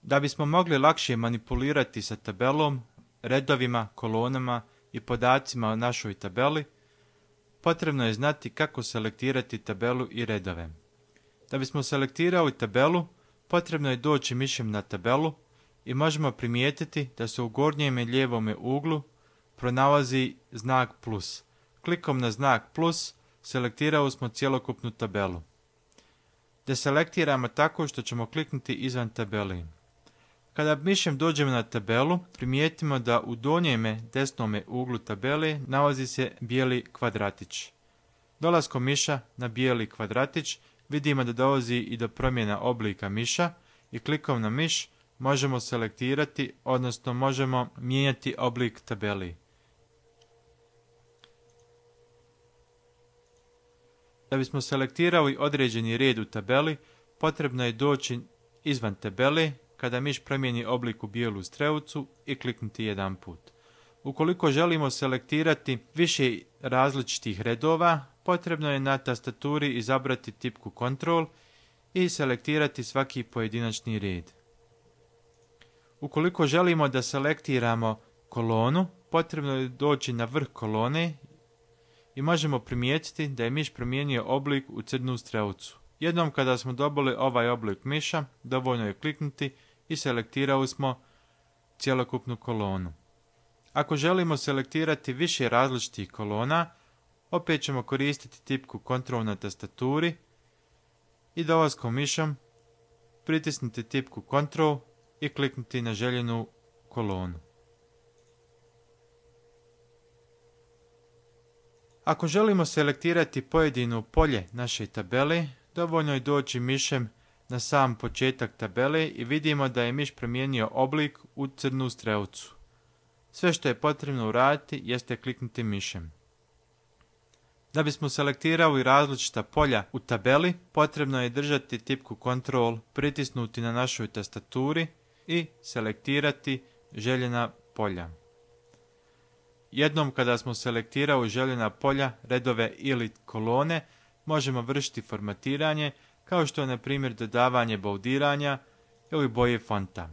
Da bismo mogli lakše manipulirati sa tabelom, redovima, kolonama i podacima o našoj tabeli, potrebno je znati kako selektirati tabelu i redove. Da bismo selektirali tabelu, potrebno je doći mišem na tabelu i možemo primijetiti da se u gornjem i lijevom uglu pronalazi znak plus. Klikom na znak plus selektirali smo cjelokupnu tabelu. Deselektiramo tako što ćemo kliknuti izvan tabeli. Kada mišem dođemo na tabelu, primijetimo da u donjem desnom uglu tabele nalazi se bijeli kvadratić. Dolaskom miša na bijeli kvadratić vidimo da dolazi i do promjena oblika miša i klikom na miš možemo selektirati, odnosno možemo mijenjati oblik tabeli. Da bismo selektirali određeni red u tabeli, potrebno je doći izvan tabele kada miš promijeni oblik u bijelu strelicu i kliknuti jedan put. Ukoliko želimo selektirati više različitih redova, potrebno je na tastaturi izabrati tipku Ctrl i selektirati svaki pojedinačni red. Ukoliko želimo da selektiramo kolonu, potrebno je doći na vrh kolone i možemo primijetiti da je miš promijenio oblik u crnu strelicu. Jednom kada smo dobili ovaj oblik miša, dovoljno je kliknuti i selektirali smo cjelokupnu kolonu. Ako želimo selektirati više različitih kolona, opet ćemo koristiti tipku Ctrl na tastaturi i dolaskom mišom pritisnuti tipku Ctrl i kliknuti na željenu kolonu. Ako želimo selektirati pojedino polje naše tabele, dovoljno je doći mišem na sam početak tabele i vidimo da je miš promijenio oblik u crnu strelicu. Sve što je potrebno uraditi jeste kliknuti mišem. Da bismo selektirali različita polja u tabeli, potrebno je držati tipku Ctrl, pritisnuti na našoj tastaturi i selektirati željena polja. Jednom kada smo selektirali željena polja, redove ili kolone, možemo vršiti formatiranje, kao što je na primjer dodavanje boldiranja ili boje fonta.